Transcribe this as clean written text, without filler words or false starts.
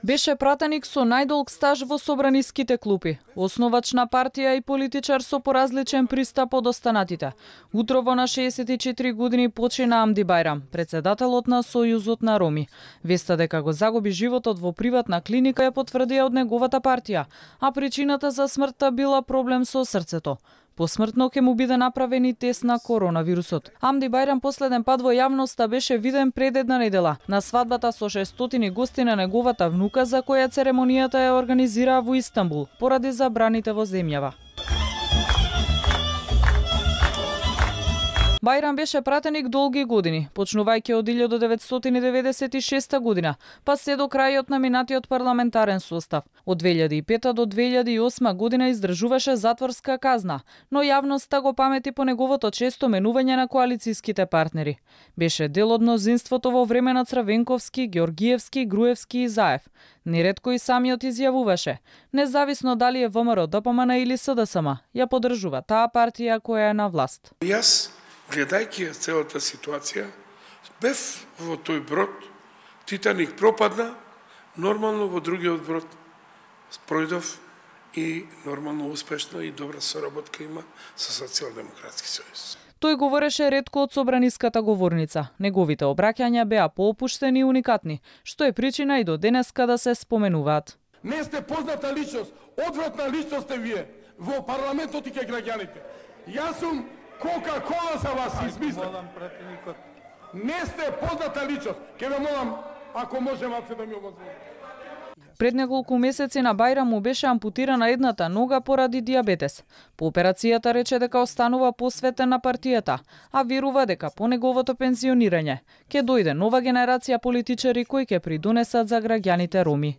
Беше пратеник со најдолг стаж во собраниските клупи, основач на партија и политичар со поразличен пристап од останатите. Утрово на 64 години почина Амди Бајрам, председателот на Сојузот на роми. Веста дека го загуби животот во приватна клиника ја потврдија од неговата партија, а причината за смртта била проблем со срцето. Посмртно ќе му биде направен и тест на коронавирусот. Амди Бајрам последен пат во јавноста беше виден пред една недела на свадбата со 600 гости на неговата внука, за која церемонијата ја организираа во Истанбул поради забраните во земјава. Бајрам беше пратеник долги години, почнувајќи од 1996 година, па се до крајот на минатиот парламентарен состав. Од 2005 до 2008 година издржуваше затворска казна, но јавноста го памети по неговото често менување на коалицијските партнери. Беше дел од мнозинството во време на Црвенковски, Ѓоргиевски, Груевски и Заев. Неретко и самиот изјавуваше: независно дали е ВМРО, ДПМН или СДСМ, ја поддржува таа партија која е на власт. Гледајќи целата ситуација, бев во тој брод, Титаник пропадна, нормално во другиот брод пројдов и нормално успешно и добра соработка има со Социјалдемократски сојуз. Тој говореше ретко од собраниската говорница. Неговите обраќања беа поопуштени и уникатни, што е причина и до денеска да се споменуваат. Не сте позната личност, одвратна личност сте вие во парламентот и кај граѓаните. Јас сум Кока-кола за вас измислам. Не сте позната личност. Ке ве молам, ако може малце да ми обозволите. Пред неколку месеци на Бајрам му беше ампутирана едната нога поради дијабетес. По операцијата рече дека останува посветен на партијата, а верува дека по неговото пензионирање ќе дојде нова генерација политичари кои ќе придонесат за граѓаните роми.